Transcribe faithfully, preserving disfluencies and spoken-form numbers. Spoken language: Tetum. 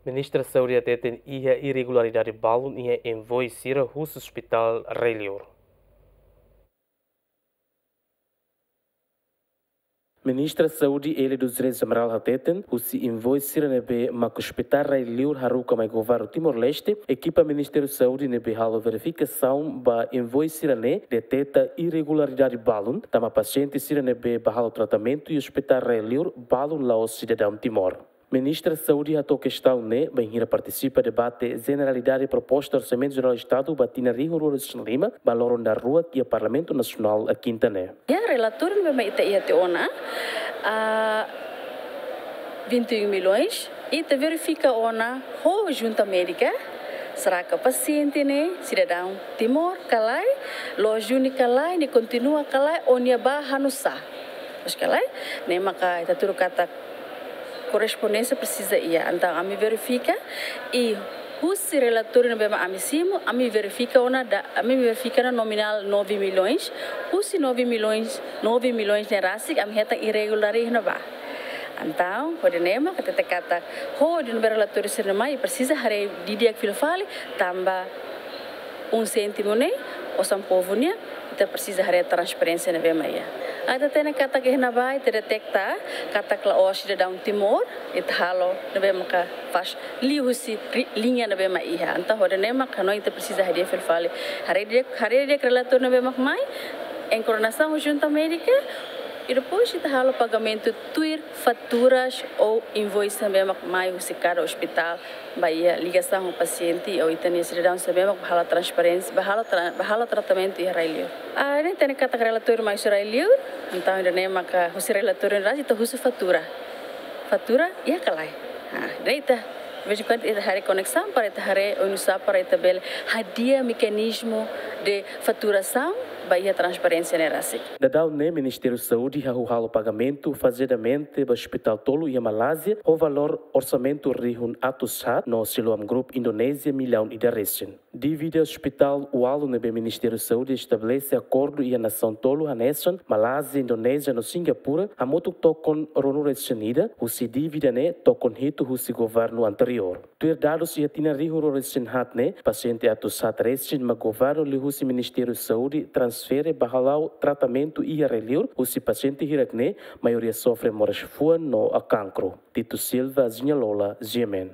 Ministra Saúde hateten iha irregularidade balun iha invoice sira husi Hospital Rai Liur. Ministra Saúde Élia dos Reis Amaral hateten, husi invoice sira ne'ebé mak Hospital Rai Liur haruka mai Governu Timor-Leste, ekipa Ministériu Saúde ne'ebé halo verifikasaun ba invoice sira-ne'e deteta irregularidade balun, tanba pasiente sira ne'ebé bá halo tratamentu iha Hospital Rai Liur balun la'ós sidadaun Timor. Ministra Saúde hato'o kestaun ne'e bainhira partisipa debate jeneralidade proposta Orsamentu Jerál Estadu ba tinan rihun rua ruanulu-resin-lima ba loron daruak iha Parlamentu Nasionál, Kinta ne'e. Ya, relatóriu ne'ebé mak ita iha tiha ona, ah, vinte e um milhões, ita verifika ona ho Junta Médika, será que pasiente ne'e sidadaun Timor ka lae, lojuni ka lae, nia kontinua ka lae, ou nia bá hanusá. Mas ka lae, ne'e maka ita tuir katak korrespondénsia presiza iha. Entaun, ami verifika, i husi relatóriu ne'ebé mak ami simu, ami verifika ona da, ami verifika ona nominál nove milhões, husi nove milhões, nove milhões ne'e rasik, ami hetan irregularidade iha ne'ebá. Entaun, hodi ne'e mak ita hatete katak, hodi ne'ebé relatóriu sira-ne'e mai, presiza haree didi'ak fila fali, tanba um cêntimo ne'e, osan povu nian, ita presiza haree transparénsia ne'ebé mak iha. Ita hatene katak iha ne'ebá, ita deteta katak la'ós sidadaun Timor, ita halo ne'ebé maka faz liuhusi ri-, liña ne'ebé mak iha. Entaun, hodi ne'e mak hanoin ita presiza haree fila fali. Haree didi'ak, haree didi'ak relatóriu ne'ebé mak mai, em coordenação ho Junta Médika, i depois ita halo pagamentu tuir faturas ou invoice ne'ebé mak mai husi kada ospitál, ba iha ligasaun ho pasiente ou ita-nia sidadaun sira ne'ebé mak bá halo transparénsia, bá halo tra-, bá halo tratamentu iha Rai Liur. Ah, ne'e hatene katak relatóriu mai husi Rai Liur, entaun ida-ne'e maka husi relatóriu ne'e rasik ita husu fatura. Fatura iha ka lae. Ah, ida-ne'e ita, de vez em quando ita haree koneksaun para ita haree oinsá para ita bele hadi'a mekanizmu de faturasaun ba iha transparénsia ne'e rasik. Daudaun ne'e Ministériu Saúde hahú halo pagamentu fazedamente ba ospitál tolu iha Malázia, ho valór orsamentu rihun atus haat, no Siloam Group Indonézia millaun ida resin. Dívida ospitál ualu ne'ebé Ministériu Saúde estabelese akordu iha nasaun tolu hanesan Malázia, Indonézia no Singapura, hamutuk tokon ruanulu resin ida, husi dívida ne'e tokon hitu husi governu anteriór. Tuir dadus iha tinan rihun rua resin haat ne'e, pasiente atus haat resin mak governu liuhusi Ministériu Saúde transfere bá hala'o tratamentu iha Rai Liur, husi pasiente hirak ne'e, maioria sofre moras fuan no kankru. Tito Silva, Zinha Lola, G M N.